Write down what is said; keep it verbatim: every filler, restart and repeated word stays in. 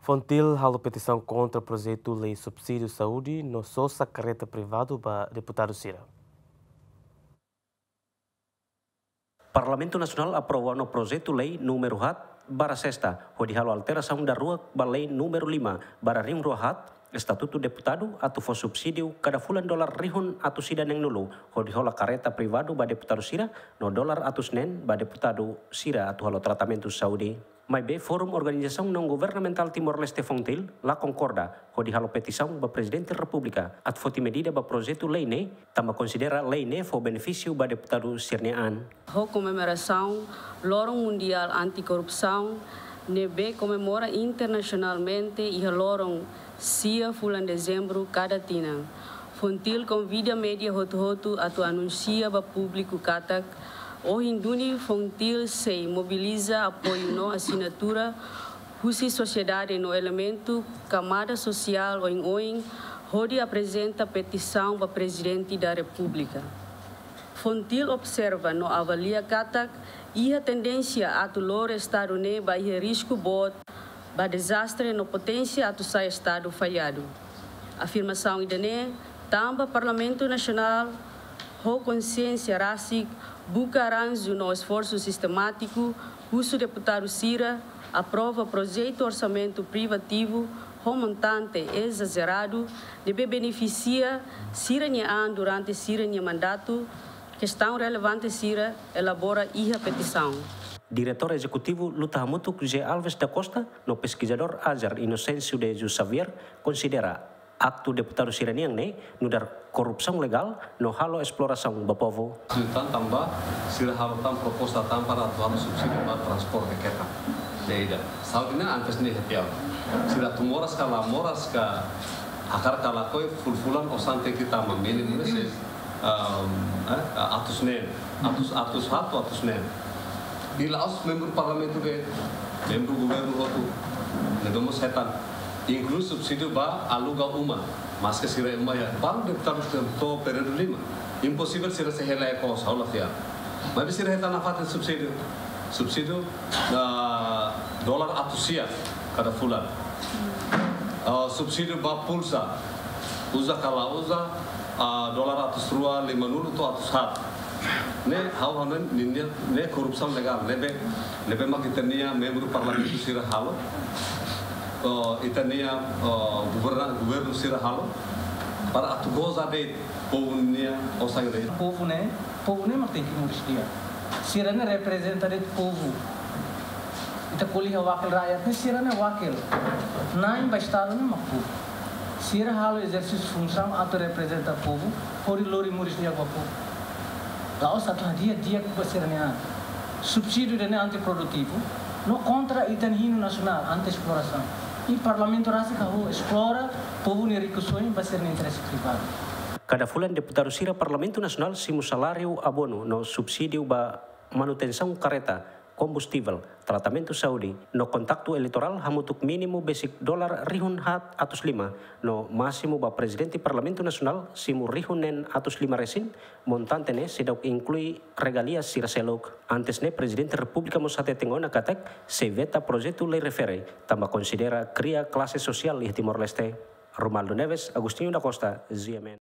FONGTIL halo petisaun kontra projetu lei subsídiu saúde no sosa kareta privadu ba deputadu sira. Parlamentu Nasionál aprova ona projetu lei númeru haat barra sesta, hodi halo alterasaun daruak ba lei númeru lima barra rihun rua haat, Estatutu Deputadu, atu fó subsídiu kada fulan dolar rihun atus ida neen-nulu, hodi hola kareta privadu ba deputadu sira, no dolar atus neen ba deputadu sira atu halo tratamentu saúde. Maibé Forum Organizasaun Naun-Governamentál Timor-Leste, FONGTIL, la konkorda hodi halo petisaun ba Prezidente Repúblika atu foti medida ba projetu lei ne'e, tanba konsidera lei ne'e fó benefísiu ba deputadu sira-nia an. Ho komemorasaun Loron Mundiál Anti-Korrupsaun, ne'ebé komemora internasionalmente iha loron sia fulan Dezembru kada tinan, FONGTIL konvida média hotu-hotu atu anunsia ba públiku katak, ohin duni FONGTIL sei mobiliza apoiu no asinatura husi sosiedade no elementu kamada sosiál oin-oin, hodi aprezenta petisaun ba Prezidente da Repúblika. FONGTIL observa no avalia katak iha tendénsia atu lori estadu ne'e ba iha risku boot ba dezastre no poténsia atu sai estadu falladu. Afirmasaun ida-ne'e tanba Parlamentu Nasionál ho konsiénsia rasik buka arranju no esforsu sistemátiku husu deputadu sira aprova projetu orsamentu privativu ho montante ezazeradu ne'ebé benefisia sira-nia an durante sira-nia mandatu, kestaun relevante sira elabora iha petisaun. Diretór Ezekutivu Luta Hamutuk, José Alves da Costa, no peskizadór AJAR, Inocêncio de Jesus Xavier, konsidera aktu deputadu sira-nian ne'e nu'udar korrupsaun legál no halo esplorasaun ba povu. Tan tanba sira halo tan proposta tan para atu halo subsídiu ba transporte kereta. Ne'e ida. Saúde ne'e antes ne'e hetiau. Sira atu moras ka la moras ka, hakarak ka lakohi, fulan-fulan osan tenke tama, mínimu ne'e sei, um, eh, atus neen, atus, atus haat, atus neen. I la'ós membru parlamentu de'it, membru governu hotu, ne'ebé mós hetan, inklui subsídiu ba aluga uma, maske sira uma iha, balu deputadu sira to'o períodu lima. Imposivel sira sei hela iha kos, ha'u la fiar. Maibé sira hetan nafatin subsídiu, subsídiu, ah, dolar atus sia kada fulan. Ah, subsídiu ba pulsa, uza ka la uza, ah, dolar atus rua lima-nulu to'o atus haat. Ne'e ha'u hanoin ninia, ne'e korrupsaun legál, ne'ebé, ne'ebé mak ita-nia membru parlamentu sira halo, oh, ita-nia, oh, governa-, governu sira halo, para atu goza de'it povu nia osan de'it. Povu ne'e, povu ne'e mak tenke moris di'ak. Sira ne'e reprezenta de'it povu. Ita ko'alia wakil rakyat ne'e, sira ne'e wakil. Na'in ba estadu ne'e mak povu. Sira halo ezersísiu funsaun atu reprezenta povu, hodi lori moris di'ak ba povu. La'ós atu hadi'a di'ak ba sira-nia an. Subsídiu ida-ne'e antiprodutivu, no kontra ita-nia hinu nasionál, anti-esplorasaun. I parlamentu rasik hahú esplora povu nia rikusoin ba sira-nia interese privadu. Kada fulan deputadu sira Parlamentu Nasionál simu saláriu, abonu no subsídiu ba manutensaun kareta, kombustivel, tratamentu saúde, no kontaktu eleitorál hamutuk mínimu besik dolar rihun haat atus lima, no másimu ba Prezidente Parlamentu Nasionál simu rihun neen atus lima resin, montante ne'e seidauk inklui regalia sira seluk. Antes ne'e, Prezidente Repúblika mós hateten ona katak sei veta projetu lei refere, tanba konsidera kria klase sosiál iha Timor-Leste. Romaldo Neves, Agostinho da Costa, G M N.